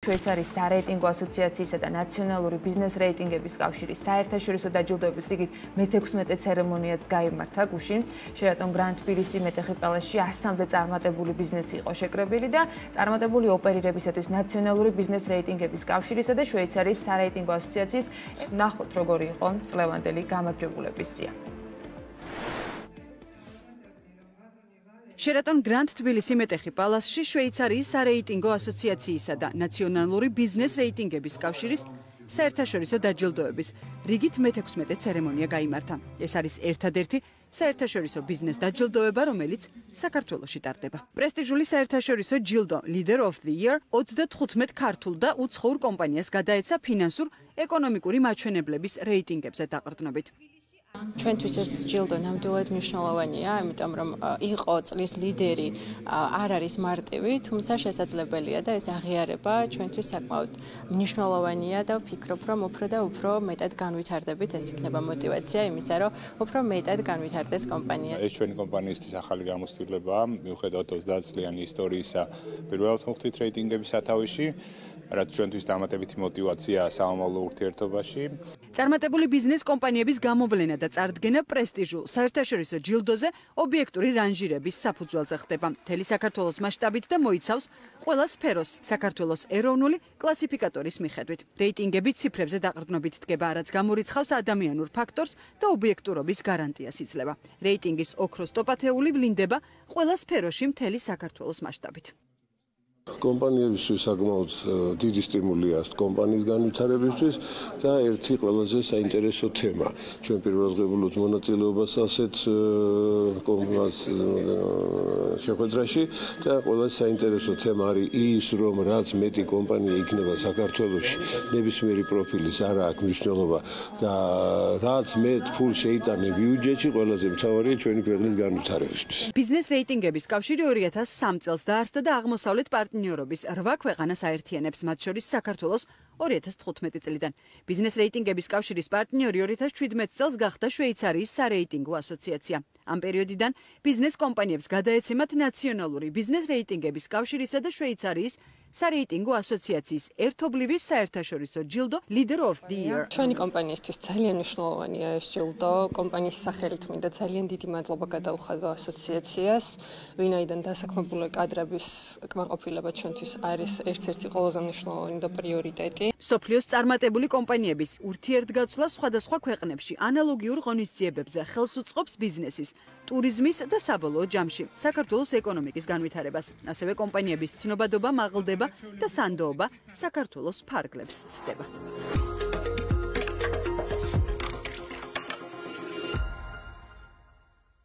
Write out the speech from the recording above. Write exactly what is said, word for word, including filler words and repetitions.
შვეიცარიის სარეიტინგო ასოციაციისა და ნაციონალური ბიზნეს რეიტინგების კავშირის საერთაშორისო დაჯილდოების რიგით მეთექვსმეტე ცერემონიაც გაიმართა გუშინ. Sheraton Grand თბილისი მეტეხი პალასში ასამდე წარმატებული ბიზნესი იყო შეკრებილი და წარმატებული ოპერირებისათვის ნაციონალური ბიზნეს რეიტინგების კავშირისა და შვეიცარიის სარეიტინგო ასოციაციის ნახოთ როგორი იყო წლევანდელი გამარჯვებულების სია. Sheraton Grand თბილისი მეტეხი პალასში შვეიცარიის სარეიტინგო ასოციაციისა და ნაციონალური ბიზნეს რეიტინგების კავშირის საერთაშორისო დაჯილდოების რიგით მეთექვსმეტე ცერემონია გაიმართა. ეს არის ერთადერთი საერთაშორისო ბიზნეს დაჯილდოება, რომელიც საქართველოში ტარდება. პრესტიჟული საერთაშორისო ჯილდო Leader of the Year ოცდათხუთმეტ ქართულ და უცხოურ კომპანიას გადაეცა ფინანსურ ეკონომიკური მაჩვენებლების რეიტინგებზე დაყრდნობით. ჩვენთვის ეს ჯილდო ნამდვილად მნიშვნელოვანია, იმიტომ რომ იყო წლის ლიდერი არ არის მარტივი, თუმცა შესაძლებელია და ეს აღიარება ჩვენთვის საკმაოდ მნიშვნელოვანია და ვფიქრობ, რომ უფრო და უფრო მეტად განვითარდებით, ეს იქნება мотиваცია იმისა, რომ უფრო მეტად განვითარდეს კომპანია. ეს ჩვენი კომპანიისთვის ახალი გამოცდილებაა, მიუხედავად ოცდაათ წლიანი ისტორიისა, პირველად მოხდით რეიტინგების სათავეში, რაც ჩვენთვის დამატებითი мотиваციაა სამომავლო ურთიერთობაში. წარმატებული ბიზნეს კომპანიების გამოვლენა და წარდგენა პრესტიჟულ საერთაშორისო ჯილდოზე ობიექტური რანჟირების საფუძველზე ხდება. მთელი საქართველოს მასშტაბით და მოიცავს ყველა სფეროს საქართველოს ეროვნული კლასიფიკატორის მიხედვით. რეიტინგები ციფრებზე დაყრდნობით დგება, რაც გამორიცხავს ადამიანურ ფაქტორს და ობიექტურობის გარანტიას იძლევა. რეიტინგის ოქროს ტოპათეული ვლინდება ყველა სფეროში მთელი საქართველოს მასშტაბით. კომპანიებისთვის საკმაოდ დიდი სტიმულია კომპანიის განვითარებისთვის და ერთი ყველაზე საინტერესო თემა. ჩვენ პირველად ღებულობთ მონაწილეობას ასეთ შეხვედრაში და ყველაზე საინტერესო თემა არის ის, რომ რაც მეტი კომპანია იქნება საქართველოში, ნებისმიერი პროფილის არა აქვს მნიშვნელობა და რაც მეტ ფულს შეიტანე ბიუჯეტში, ყველაზე მთავარია ჩვენი ქვეყნის განვითარებისთვის. ბიზნეს რეიტინგების კავშირი ორი ათას სამ წელს დაარსდა და აღმოსავლეთ პარტნიორობის რვა ქვეყანას აერთიანებს, მათ შორის საქართველოს ორი ათას თხუთმეტი წლიდან. ბიზნეს რეიტინგების კავშირის პარტნიორი ორი ათას შვიდმეტ წელს გახდა შვეიცარიის სარეიტინგო ასოციაცია. ამ პერიოდიდან ბიზნეს კომპანიებს გადაეცემათ ნაციონალური ბიზნეს რეიტინგების კავშირისა და შვეიცარიის სარეიტინგო ასოციაციის ერთობლივი საერთაშორისო ჯილდო Leader of the Year. ჩვენი კომპანიისთვის ძალიან მნიშვნელოვანია ეს ჯილდო. კომპანიის სახელით მინდა ძალიან დიდი მადლობა გადაუხადო ასოციაციას, ვინაიდან დასაქმებული კადრების კმაყოფილება ჩვენთვის არის ერთ-ერთი ყველაზე მნიშვნელოვანი და პრიორიტეტი. მსოფლიოს წარმატებული კომპანიების ურთიერთგაცვლა სხვადასხვა ქვეყნებში ანალოგიურ ღონისძიებებზე ხელს უწყობს ბიზნესის, ტურიზმის და საბოლოო ჯამში საქართველოს ეკონომიკის განვითარებას. ასევე კომპანიების ცნობადობა, მაღლდება და სანდოობა საქართველოს ფარგლებს ცდება.